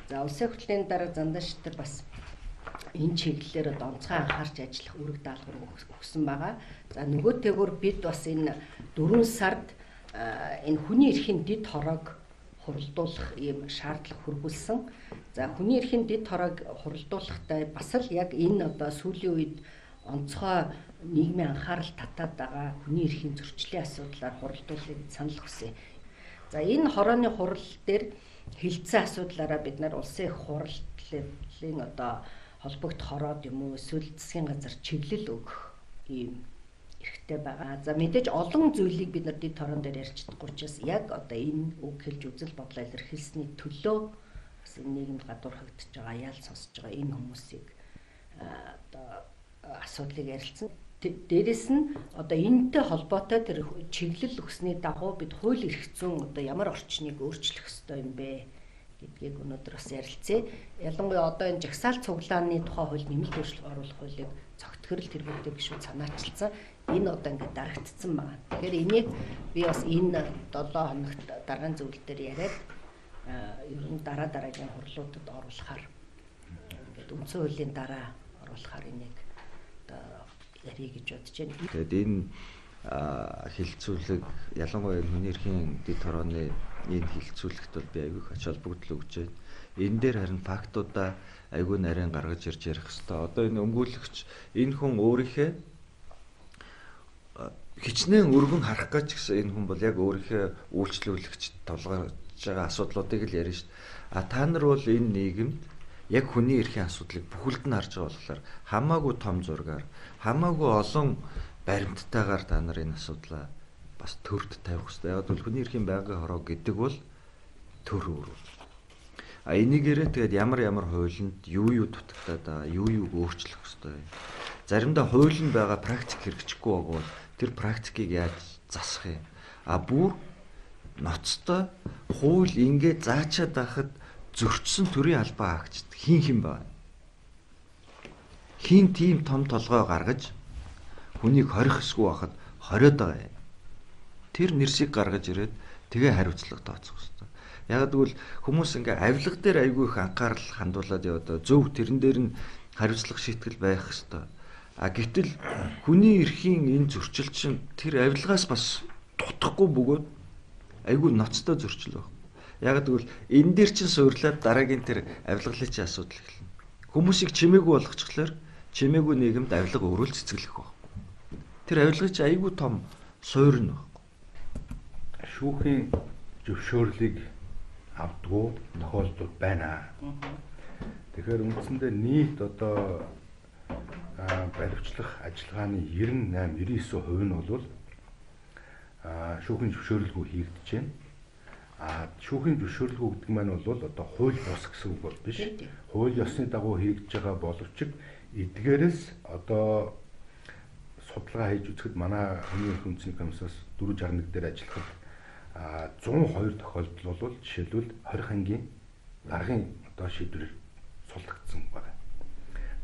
За улсын хурлын дараа Занданшид бас энэ чиглэлээр онцгой анхаарч ажиллах үүрэг даалгавар өгсөн байгаа. За нөгөөтэйгөр бид бас энэ 4 сард энэ хүний эрхийн дэд хороог хуралдуулах ийм шаардлага хүргүүлсэн. За хүний эрхийн дэд хороог хуралдуулахдаа бас л яг энэ одоо сүүлийн үед онцгой нийгмийн анхаарал татаад байгаа хүний эрхийн зөрчлийн асуудлаар хуралдуулахыг санал хүсье. За энэ хорооны хурал дээр хилцэн асуудлаараа бид нар улсын их хурлын одоо холбогд хороод юм уу эсвэл засгийн газар чиглэл өгөх ийм эрхтэй байгаа. За мэдээж олон зүйлийг бид нар дэд хорон дээр ярьж чадахгүй учраас яг одоо энэ үг хэлж үзэл бодлоо илэрхийлсэний төлөө бас энэ нийгэмд гадуурхагдж байгаа яал сонсож байгаа энэ хүмүүсийг одоо асуудлыг ярилцсан. Дээрэс нь одоо энэтэй холбоотой тэр чиглэл өгсөний дагуу бид хууль эрх зүйн одоо ямар орчныг өөрчлөх ёстой юм бэ гэдгийг өнөөдөр бас ярилцъя. Ялангуяа одоо энэ жагсаал цуглааны тухай хууль нэмэлт өөрчлөлт оруулах хуулийг цогтгөрөл тэргүүтэй гишүүд санаачилсан. Энэ одоо ингээд дарагдсан байна. Тэгэхээр энийг би бас энэ 7 хоногт дараагийн зөвлөл дээр яриад ер нь дараагийн хурлуудад оруулахаар ингээд үндсэн хуулийн дараа оруулахаар энийг одоо ярих гэж бодож байна. Тэгээд энэ хилцүүлэг ялангуяа хүний эрхийн дэд хорооны энэ хилцүүлэгт бол би аягүй их ач холбогдол өгч байна. Энэ дээр харин фактуудаа аягүй нарийн гаргаж ирж ярих хэвээр. Одоо энэ өмгөөлөгч энэ хүн өөрийнхөө хичнээн өргөн харах гэж гэсэн энэ хүн бол яг өөрийнхөө үйлчлүүлэгч тулгарч байгаа асуудлуудыг л ярина шүү дээ. Та нар бол энэ нийгэмд яг хүний эрхийн асуудлыг бүхэлд нь харж байгаа болохоор хамаагүй том зургаар, хамаагүй олон баримттайгаар та нар энэ асуудлаа бас төрд тавих хэрэгтэй. Яг бол хүний эрхийн байнгын хороо гэдэг бол төр өөр. Энийгээрээ тэгээд ямар хуулинд юу дутагдаад байгаа, юу өөрчлөх хэрэгтэй. Заримдаа хуулинд байгаа практик хэрэгжихгүй байгаа бол тэр практикийг яаж засах юм? Бүр ноцтой хууль ингээд заачаад байхад зөрчсөн төрийн албаа хаагчд хин байна. Хин тийм том толгой гаргаж хүнийг хорих эсгүй байхад хориод байгаа юм. Тэр нэрсийг гаргаж ирээд тэгээ хариуцлага тооцох хэрэгтэй. Яг гэвэл хүмүүс ингээ авилга дээр айгүй их анхаарал хандуулад яваад зөв тэрэн дээр нь хариуцлага шийтгэл байх хэрэгтэй. Гэтэл хүний эрхийн энэ зөрчил чинь тэр авилгаас бас дутхгүй бөгөөд айгүй ноцтой зөрчил байна. Яг гэвэл энэ дээр чинь суурлаад дараагийн тэр авилгалын асуудал эхэлнэ. Хүмүүсийг чимээгүй болгочихлоор чимээгүй нийгэмд авилга өрөөл цэцгэлэх баг. Тэр авилгыг чи айгүй том суурь нь баг. Шүүхийн зөвшөөрлийг авдгуу тохиолдол байна. Тэгэхээр үндсэндээ нийт одоо баривчлах ажиллагааны 98-99% нь бол шүүхийн зөвшөөрлгүй хийгдэж байна. Шүүхийн зөвшөөрлгүй гэдэг маань бол одоо хууль бус гэсэн үг бол биш. Хууль ёсны дагуу хийгдэж байгаа боловч эдгээрээс одоо судалгаа хийж үзэхэд манай хүний эрхийн үндэсний комиссаас 461 дээр ажиллахад 102 тохиолдол бол жишээлбэл 20 ангийн даргын одоо шийдвэрээр суллагдсан байна.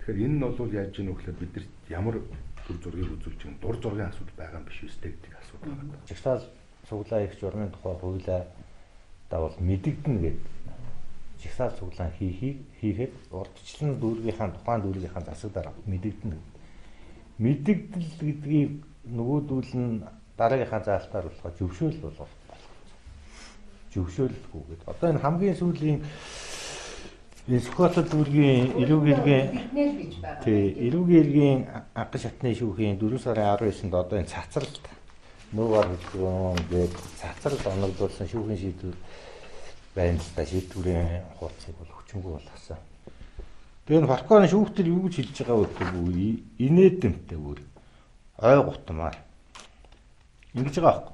Тэгэхээр энэ нь бол яаж ийнө гэхээр бид нар ямар төр зургийг үзүүлж байгаа дур зургийн асуудал байгаа юм биш үстэй гэдэг асуудал байна. Жагсаал цуглаан их журмын тухай хуулиа давал мэдэгдэнэ гэдэг. Жагсаал цуглаан хийхэд урдчлан дүүргийнхаа тухайн дүүргийнхаа засаг дараа мэдэгдэнэ. Мэдэгдэл гэдгийг нөгөөдүүл нь дараагийнхаа заалтаар болохоо зөвшөөрөл болгох болох. Зөвшөөрөлгүй гэдэг. Одоо энэ хамгийн сүүлийн Скотл дүүргийн эрүүгийн анхан шатны шүүхийн 4 сарын 19-нд одоо энэ цацралт нүүгээр хэлгэн гээд цацралт оногдуулсан шүүхийн шийдвэр байна л да. Шийдвэрийн хуудсыг бол хүчингүй болгосон. Тэгээ энэ Фарконы шүүхтэр юу гэж хэлж байгаа вэ гэвэл инээдэмтэй бүр ой гутмаар ингэж байгаа байхгүй.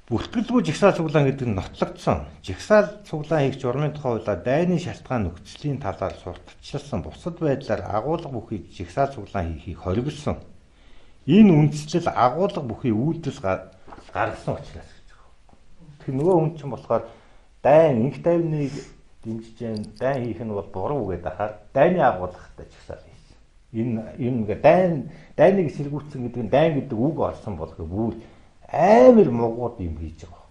Бүртгэлгүй жагсаал цуглаан гэдэг нь нотлогдсон. Жагсаал цуглаан хийх журмын тухай хуулиар дайны шалтгаан нөхцөлийн талаар сурталчилсан бусад байдлаар агуулга бүхий жагсаал цуглаан хийхийг хориглосон. Энэ үндслэл агуулга бүхий үйлдэл гаргасан учраас гэж байгаа. Тэгэхээр нөгөө хүн чинь болохоор дайн инх тайвныг дэмжиж जैन дайн хийх нь бол буруу гэдэг ахаар дайны агуулгатай жагсаал хийсэн. Энэ ингээ дайныг сэргүүцсэн гэдэг нь дайн гэдэг үг орсон болгоо бүр амар мугууд юм хийж байгаа.